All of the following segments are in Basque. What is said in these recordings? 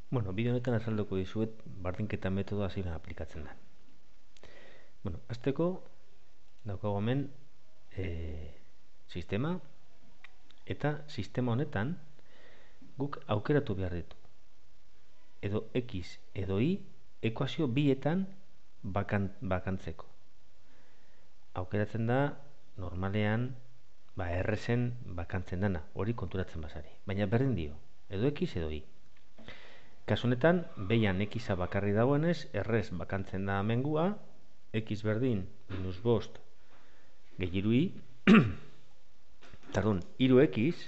Bueno, bideo honetan azalduko dizuet bardinketa metodoa zein aplikatzen da. Bueno, hasteko daukago hemen sistema, eta sistema honetan guk aukeratu behar ditu. Edo X edo Y ekuazio bietan bakantzeko. Aukeratzen da normalean errezen bakantzen dana, hori konturatzen bazari. Baina berdin dio, edo X edo Y. Kasu honetan, behian X-a bakarri dagoenez, errez bakantzen da mengua, X berdin minus bost gehi iru Y, tardun, iru X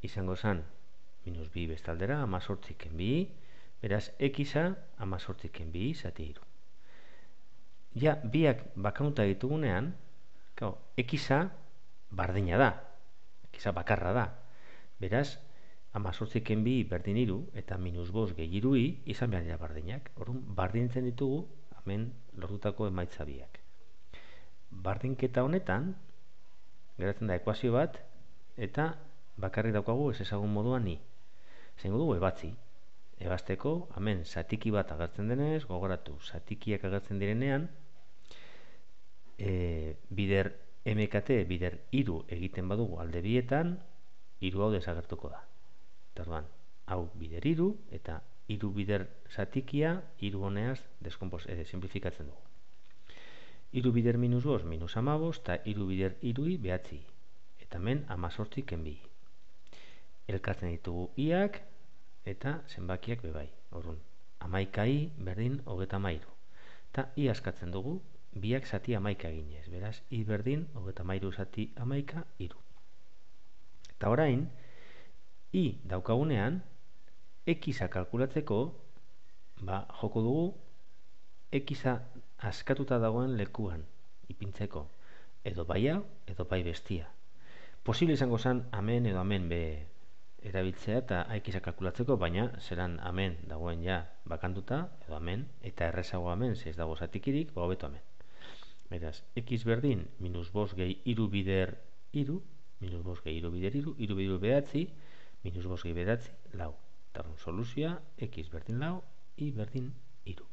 izango zen minus bi bestaldera, amazortziken bi, beraz, X-a amazortziken bi zati iru. Ja, biak bakanuta ditugunean, X-a bardina da, X-a bakarra da, beraz, amazortziken bi berdin iru eta minus bost gehi iru Y izan behar dira bardinak. Orduan, bardintzen ditugu hemen lortutako emaitza biak. Bardinketa honetan geratzen da ekuazio bat eta bakarrik daukagu ez ezagun moduan Y. Zengo dugu ebatzi. Ebazteko, hemen zatiki bat agertzen denez, gogoratu, zatikiak agertzen direnean, bider MKT, bider iru egiten badugu alde bietan, iru hau desagertuko da. Orduan, hau bider iru eta iru bider zatikia iru honeaz simplifikatzen dugu. Iru bider minus bost minus amabost eta iru bider irui behatzi. Eta hemen amazortziken bi. Elkartzen ditugu iak eta zenbakiak bebai. Orduan, amaika I berdin hogeta mairu. Eta I askatzen dugu biak zati amaika eginez. Beraz, I berdin hogeta mairu zati amaika iru. Eta orain, I daukagunean, X-a kalkulatzeko, joko dugu X-a askatuta dagoen lekuan ipintzeko. Edo bai hau, edo bai bestia. Posible izango zen amen edo amen be erabiltzea eta X-a kalkulatzeko, baina zeran amen dagoen ja bakantuta, edo amen, eta errezago amen, ez dago zatikirik, hobeto amen. Beraz, X berdin, minus bost gehi iru bider iru, minus bost gehi iru bider iru, iru bider behatzi, minus bost gehi behatzi, lau. Eta soluzioa, X berdin lau, Y berdin iru.